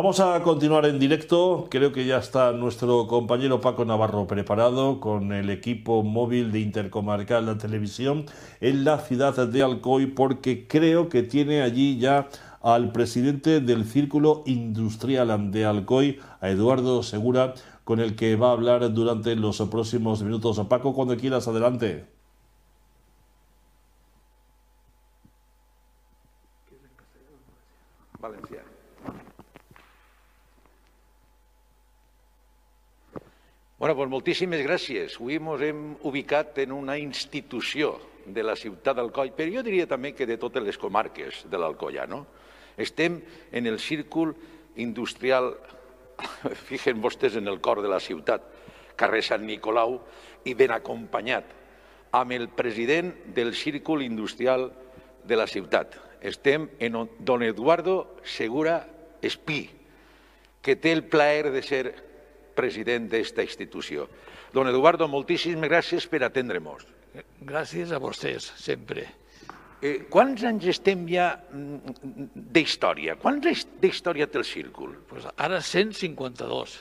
Vamos a continuar en directo. Creo que ya está nuestro compañero Paco Navarro preparado con el equipo móvil de Intercomarcal La Televisión en la ciudad de Alcoy, porque creo que tiene allí ya al presidente del Círculo Industrial de Alcoy, a Eduardo Segura, con el que va a hablar durante los próximos minutos. Paco, cuando quieras, adelante. Valencià. Bueno, doncs moltíssimes gràcies. Avui ens hem ubicat en una institució de la ciutat d'Alcoi, però jo diria també que de totes les comarques de l'Alcoià, no? Estem en el círcul industrial, fixen vostès, en el cor de la ciutat, carrer Sant Nicolau, i ben acompanyat amb el president del círcul industrial de la ciutat. Estem en don Eduardo Segura Espí, que té el plaer de ser president d'esta institució. Don Eduardo, moltíssimes gràcies per atendre-nos. Gràcies a vostès, sempre. Quants anys estem ja d'història? Quants anys d'història té el círcul? Ara 152.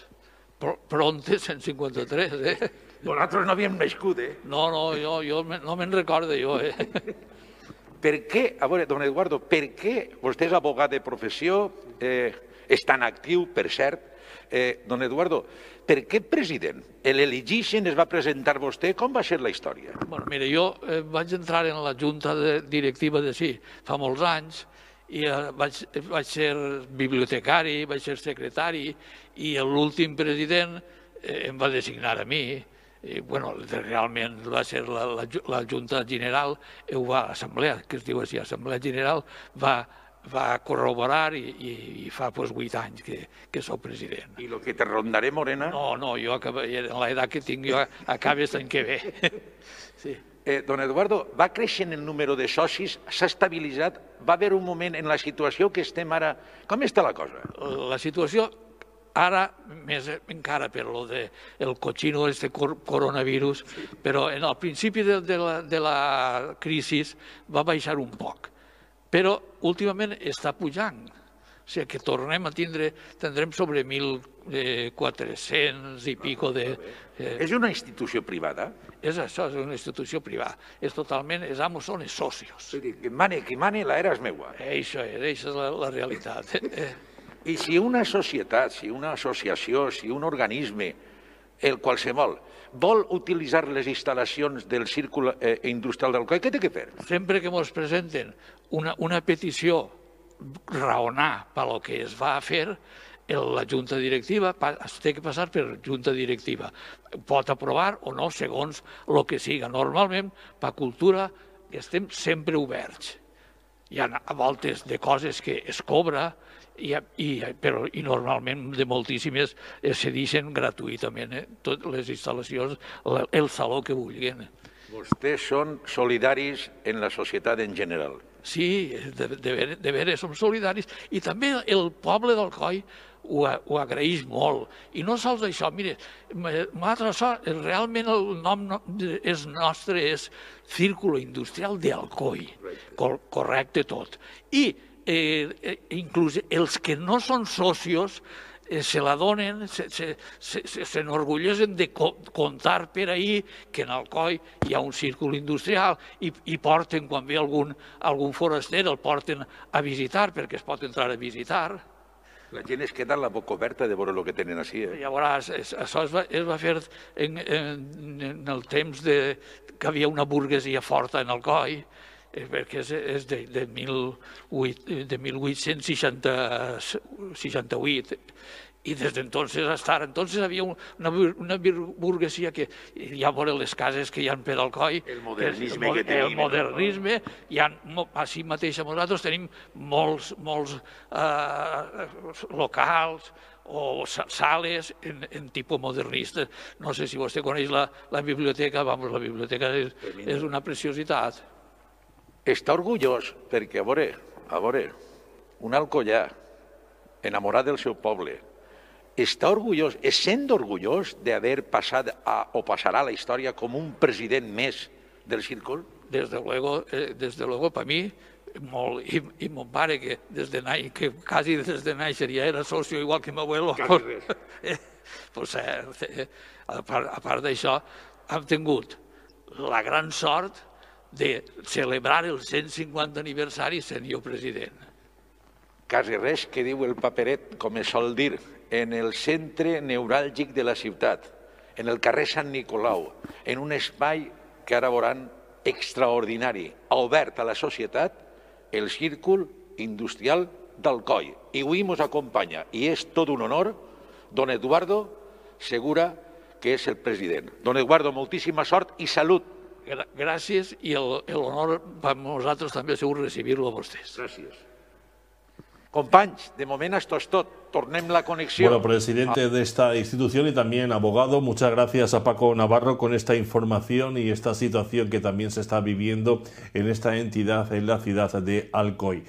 Pronte 153, eh? Nosaltres no havíem nascut, eh? No, jo no me'n recordo, jo, eh? Per què, a veure, don Eduardo, per què vostè és abogat de professió, és tan actiu, per cert? Don Eduardo, per què president? L'elegixen, es va presentar vostè, com va ser la història? Mira, jo vaig entrar en la junta directiva de sí fa molts anys i vaig ser bibliotecari, vaig ser secretari i l'últim president em va designar a mi. Realment va ser la Junta General, l'Assemblea, que es diu així, l'Assemblea General, va corroborar i fa 8 anys que soc president. I el que te rondaré, Morena? No, jo en l'edat que tinc jo acabes l'any que ve. Don Eduardo, va creixent el número de socis, s'ha estabilitzat, va haver un moment en la situació que estem ara... Com està la cosa? La situació ara, més encara per lo del cochino este coronavirus, però en el principi de la crisi va baixar un poc. Però últimament està pujant. O sigui que tornem a tindrem sobre 1.400 i pico de... És una institució privada? És això, és una institució privada. És totalment, els amos són els socios. Qui mane, la era és meua. Això és la realitat. I si una societat, si una associació, si un organisme, el qualsevol, vol utilitzar les instal·lacions del Círcul Industrial d'Alcoi, què té que fer? Sempre que ens presenten una petició raonar per el que es va a fer, la junta directiva es té que passar per junta directiva. Pot aprovar o no, segons el que siga. Normalment, per cultura, estem sempre oberts. Hi ha a voltes de coses que es cobra, i normalment de moltíssimes es cedeixen gratuïtament, totes les instal·lacions, el saló que vulguin. Vostès són solidaris en la societat en general. Sí, de veres som solidaris, i també el poble d'Alcoi ho agraeix molt. I no sols això, mire, realment el nom nostre és Círculo Industrial d'Alcoi, correcte tot. I inclús els que no són socios se la donen, s'enorgulleixen de contar per ahir que en Alcoi hi ha un círcul industrial i porten, quan ve algun foraster, el porten a visitar perquè es pot entrar a visitar. La gent es queda amb la boca oberta de veure el que tenen així. Llavors, això es va fer en el temps que hi havia una burguesia forta en Alcoi, perquè és de 1868, i des d'entonces hasta ara. Entonces havia una burguesia que ja veure les cases que hi ha per Alcoi, el modernisme que tenim. El modernisme, així mateix nosaltres tenim molts locals o sales en tipus modernista. No sé si vostè coneix la biblioteca, la biblioteca és una preciositat. Està orgullós perquè, a veure, un alcoià enamorat del seu poble, està orgullós, es sent orgullós d'haver passat o passarà a la història com un president més del círcul? Desde luego, para mí molt, i mon pare, que quasi des de néixer ja era socio, igual que m'abuelo, pues, a part d'això, hem tingut la gran sort de celebrar el 150 aniversari sent jo president. Quasi res que diu el paperet, com es sol dir, en el centre neuràlgic de la ciutat, en el carrer Sant Nicolau, en un espai que ara veuran extraordinari, obert a la societat, el Círcul Industrial d'Alcoi. I avui ens acompanya, i és tot un honor, don Eduardo Segura, que és el president. Don Eduardo, moltíssima sort i salut. Gràcies, i l'honor per nosaltres també segur recibir-lo a vostès. Gràcies. Companys, de moment esto es tot. Tornem la conexión. Bueno, presidente de esta institución y también abogado, muchas gracias a Paco Navarro con esta información y esta situación que también se está viviendo en esta entidad en la ciudad de Alcoy.